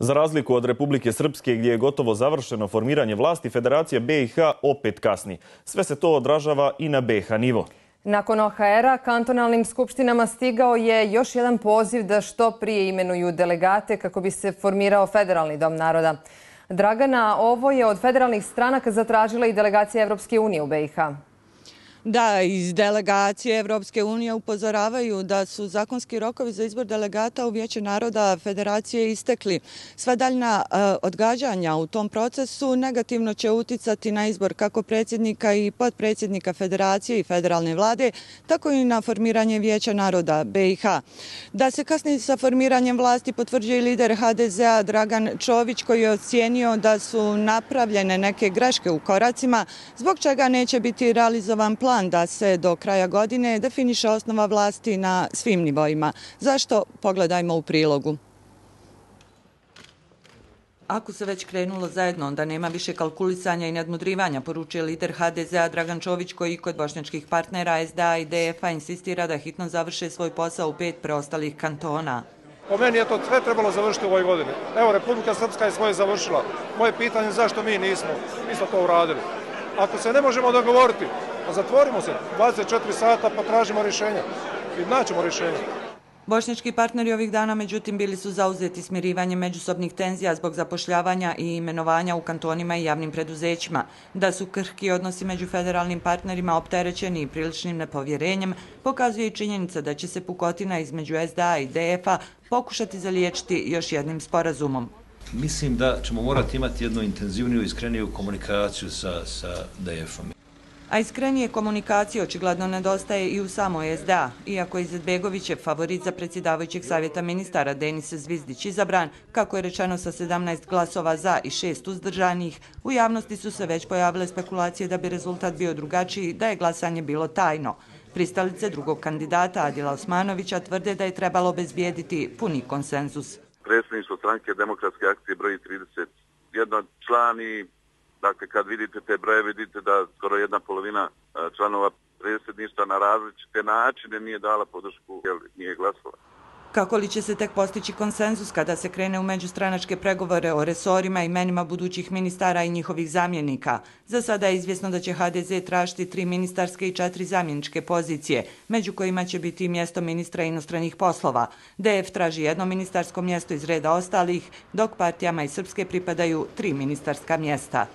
Za razliku od Republike Srpske, gdje je gotovo završeno formiranje vlasti, Federacija BiH opet kasni. Sve se to odražava i na BiH nivo. Nakon OHR-a, kantonalnim skupštinama stigao je još jedan poziv da što prije imenuju delegate kako bi se formirao Federalni dom naroda. Dragana, ovo je od federalnih stranaka zatražila i delegacija Evropske unije u BiH. Da, iz delegacije Evropske unije upozoravaju da su zakonski rokovi za izbor delegata u Vijeće naroda Federacije istekli. Sva daljna odgađanja u tom procesu negativno će uticati na izbor kako predsjednika i potpredsjednika Federacije i federalne vlade, tako i na formiranje Vijeća naroda BiH. Da se kasni sa formiranjem vlasti potvrđuje i lider HDZ-a Dragan Čović, koji je ocijenio da su napravljene neke greške u koracima, zbog čega neće biti realizovan plan da se do kraja godine definiše osnova vlasti na svim nivoima. Zašto? Pogledajmo u prilogu. Ako se već krenulo zajedno, onda nema više kalkulisanja i nadmudrivanja, poručuje lider HDZ-a Dragan Čović, koji kod bošnjačkih partnera SDA i DF-a insistira da hitno završe svoj posao u 5 preostalih kantona. Po meni je to sve trebalo završiti u ovoj godini. Evo, Republika Srpska je svoje završila. Moje pitanje je zašto mi nismo isto to uradili. Ako se ne možemo dogovoriti, pa zatvorimo se 24 sata pa tražimo rješenja i naćemo rješenja. Bošnjački partneri ovih dana, međutim, bili su zauzeti smirivanjem međusobnih tenzija zbog zapošljavanja i imenovanja u kantonima i javnim preduzećima. Da su krhki odnosi među federalnim partnerima opterećeni i priličnim nepovjerenjem, pokazuje i činjenica da će se pukotina između SDA i DF-a pokušati zaliječiti još jednim sporazumom. Mislim da ćemo morati imati jednu intenzivniju i iskreniju komunikaciju sa DF-om. A iskrenije komunikacije očigledno nedostaje i u samoj SDA. Iako je Izetbegovićev favorit za predsjedavajućeg savjeta ministara Denis Zvizdić izabran, kako je rečeno sa 17 glasova za i 6 uzdržanih, u javnosti su se već pojavile spekulacije da bi rezultat bio drugačiji, da je glasanje bilo tajno. Pristalice drugog kandidata Adila Osmanovića tvrde da je trebalo obezbijediti puni konsenzus. Predsjedništvo stranke Demokratske akcije broji 31 član i dakle, kad vidite te broje, vidite da skoro 1/2 članova predsjedništva na različite načine nije dala podršku jer nije glasala. Kako li će se tek postići konsenzus kada se krene u međustranačke pregovore o resorima i imenima budućih ministara i njihovih zamjenika? Za sada je izvjesno da će HDZ tražiti 3 ministarske i 4 zamjeničke pozicije, među kojima će biti i mjesto ministra inostranih poslova. DF traži 1 ministarsko mjesto iz reda ostalih, dok partijama iz Srpske pripadaju 3 ministarska mjesta.